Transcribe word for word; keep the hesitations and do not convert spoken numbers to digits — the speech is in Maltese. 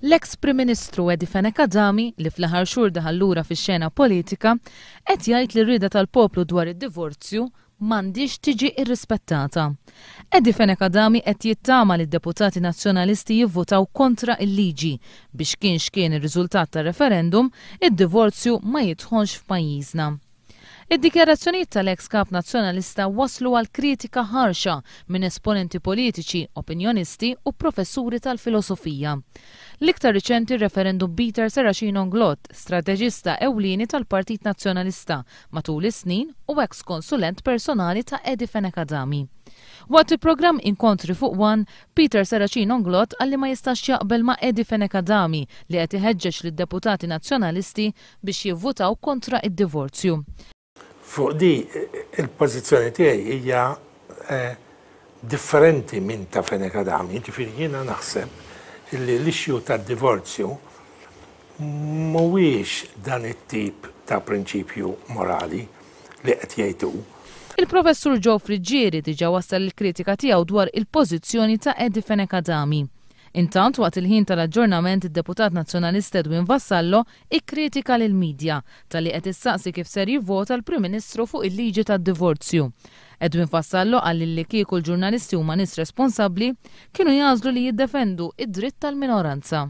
L-eks Prim Ministru Eddie Fenech Adami, li fl-aħħar xhur daħal lura fix-xena politika, qed jgħid li r-rieda tal-poplu dwar id-divorzju m'għandhiex tiġi irrispettata. Eddie Fenech Adami qed jittama li d-deputati nazzjonalisti jivvotaw kontra il-liġi biex kien x'kien ir-riżultat tar-referendum, id-divorzju ma jidħolx f'pajjiżna. Id-dikjarazzjonijiet tal-eks kap nazzjonalista waslu għal kritika ħarxa minn esponenti politiċi, opinjonisti u professuri tal-filosofija. L-iktar riċenti r-Reverend Peter Serracino Inglott, strateġista ewlieni tal-Partit Nazzjonalista matul is-snin u eks konsulent personali ta' Eddie Fenech Adami. Waqt il-programm Inkontri fuq One, Peter Serracino Inglott qal li ma jistax jaqbel ma' Eddie Fenech Adami li qed iħeġġeġ lid-deputati nazzjonalisti biex jivvutaw kontra id-divorzju. Fuq di il-pożizzjoni tiegħi hija eh, differenti minn ta' Fenech Adami, ġifieri jiena naħseb li l-issue tad-divorzju mhuwiex dan it-tip ta' prinċipju morali li qed jgħidu. Il-professur Joe Friggieri diġa wassal il-kritika tiegħu dwar il-pożizzjoni ta' Eddie Fenech Adami. Intant, waqt il-ħin tal-aġġornament, id-deputat nazzjonalista Edwin Vassallo ikkritika lill-medja talli qed issaqsi kif ser jivvota l-Prim Ministru fuq il-liġi tad-divorzju. Edwin Vassallo qal li kieku l-ġurnalisti huma nies responsabbli, kienu jagħżlu li jiddefendu id-dritt tal-minoranza.